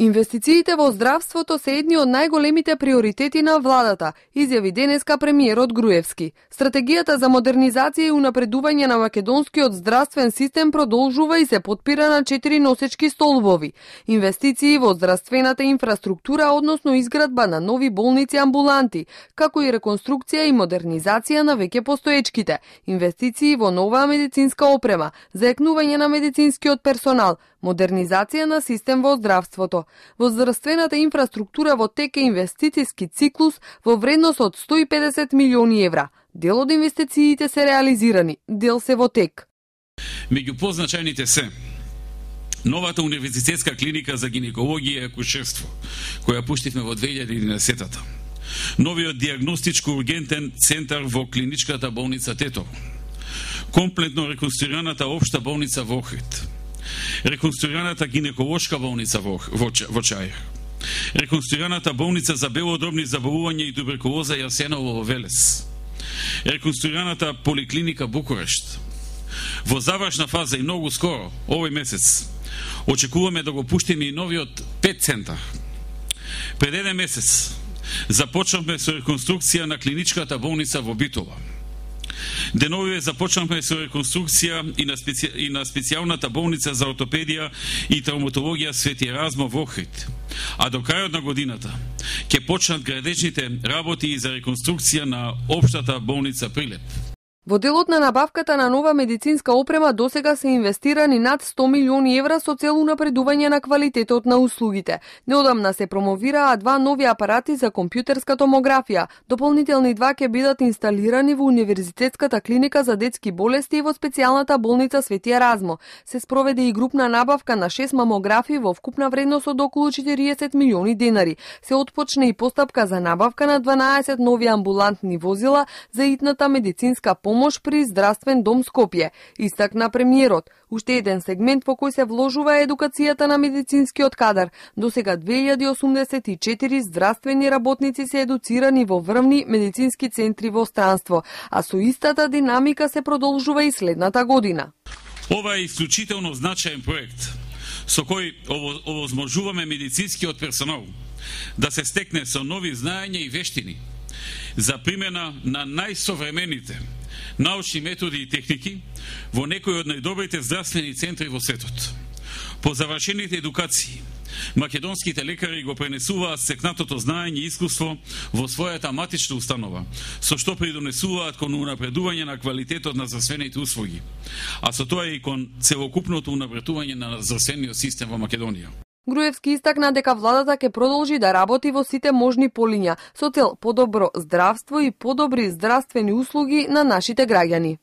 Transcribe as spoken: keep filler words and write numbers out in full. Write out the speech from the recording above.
Инвестициите во здравството се едни од најголемите приоритети на владата, изјави денеска премиерот Груевски. Стратегијата за модернизација и унапредување на македонскиот здравствен систем продолжува и се потпира на четири носечки столбови. Инвестиции во здравствената инфраструктура, односно изградба на нови болници амбуланти, како и реконструкција и модернизација на веќе постоечките, инвестиции во нова медицинска опрема, заекнување на медицинскиот персонал, модернизација на систем во здравството. Во здравствената инфраструктура во тек е инвестициски циклус во вредност од сто и педесет милиони евра. Дел од инвестициите се реализирани, дел се во тек. Меѓу позначајните се новата универзитетска клиника за гинекологија и акушерство, која пуштивме во две илјади и единаесетта. Новиот диагностичко ургентен центар во клиничката болница Тетово. Комплетно реконструираната општа болница во Охрид. Реконструираната гинеколошка болница во, во, во Чаир. Реконструираната болница за белодробни заболувања и туберкулоза Јасеново во Велес. Реконструираната поликлиника Букурешт. Во завршна фаза и многу скоро, овој месец, очекуваме да го пуштиме и новиот пет центар. Пред еден месец започнавме со реконструкција на клиничката болница во Битола. Деновиве започнавме со реконструкција и на, специ... и на специјалната болница за ортопедија и травматологија Свети Еразмо во Охрид. А до крајот на годината ќе почнат градечните работи и за реконструкција на општата болница Прилеп. Во делот на набавката на нова медицинска опрема досега се инвестирани над сто милиони евра со цел унапредување на квалитетот на услугите. Неодамна се промовираа два нови апарати за компјутерска томографија. Дополнителни два ќе бидат инсталирани во Универзитетската клиника за детски болести и во специјалната болница Свети Еразмо. Се спроведе и групна набавка на шест мамографи во вкупна вредност од околу четириесет милиони денари. Се отпочне и постапка за набавка на дванаесет нови амбулантни возила за итната медицинска помощ помош при здравствен дом Скопје, истакна премиерот. Уште еден сегмент во кој се вложува е едукацијата на медицинскиот кадар. До сега две илјади осумдесет и четири здравствени работници се едуцирани во врвни медицински центри во странство, а со истата динамика се продолжува и следната година. Ова е исклучително значаен проект со кој овозможуваме медицинскиот персонал да се стекне со нови знаења и вештини за примена на најсовремените научни методи и техники во некои од најдобрите здравствени центри во светот. По завршените едукации, македонските лекари го пренесуваат стекнатото знаење и искуство во својата матична установа, со што придонесуваат кон унапредување на квалитетот на здравствените услуги, а со тоа и кон целокупното унапредување на здравствениот систем во Македонија. Груевски истакна дека владата ќе продолжи да работи во сите можни полиња со цел подобро здравство и подобри здравствени услуги на нашите граѓани.